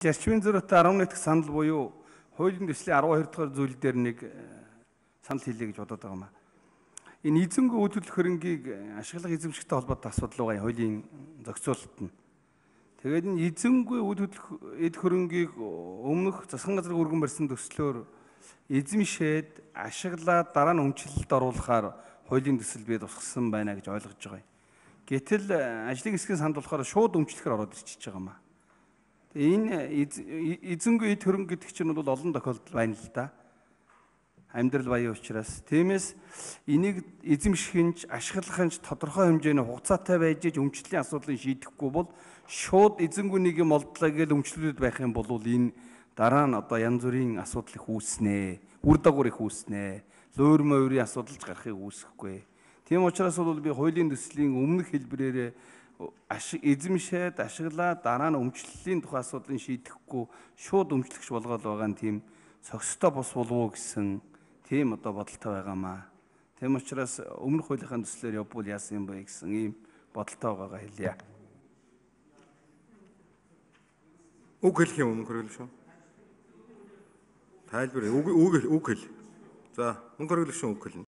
Зарчмын зөрүүтэй 11 дахь санал буюу хуулийн төслийн 12 дахь зүйл дээр нэг санал хийлээ гэж бодоод байгаа юм аа. Энэ эзэнгүй үйл хөдлөх хөрөнгийг ашиглах эзэмшигтэй холбоотой асуудал байгаа хуулийн зохицуулалт нь. Тэгээд энэ эзэнгүй үйл хөдлөх эд хөрөнгийг өмнөх засгийн газрын өргөн барьсан төслөөр эзэмшээд ашиглаад дараа нь өмчлөлд оруулахаар хуулийн төсөл бий тусгасан байна гэж ойлгож байгаа юм. Гэтэл ажлын хэсгийн санд болохоор шууд өмчлөхөр ороод ирчихэж байгаа юм аа. Энэ эзэнгүй эд хөрөнгө гэдэг чинь бол олон тохиолдолд байна л да. Амьдрал баян учраас тиймээс энийг эзэмшихэнч ашиглахынч тодорхой хэмжээний хугацаатай байж өмчлөлийн асуудлыг шийдэхгүй бол шууд эзэнгүй нэг юм олдлаа гэж өмчлөлөд байх юм бол энэ дараа нь одоо янз бүрийн асуудал их үүснэ, үр дагавар их үүснэ, луур морийн асуудалж гарахыг үүсэхгүй. Тийм учраас бол би хуулийн төслийн өмнөх хэлбэрээр эзэмшээд ашиглаад дараа нь өмчлөлийн тухай асуудлыг шийдэхгүй шууд өмчлөгч болгоод байгаа нь тийм цогцтой бос болов уу гэсэн тийм одоо бодолтой байгаамаа. Тийм учраас өмнөх хуулийн төслөөр явбал яасан юм бэ гэсэн ийм бодолтой байгаагаа хэлье. Үг хэлэх юм хөргөл шүү. Тайлбар үг хэл. За мөнгө хөргөл шүү үг хэлнэ.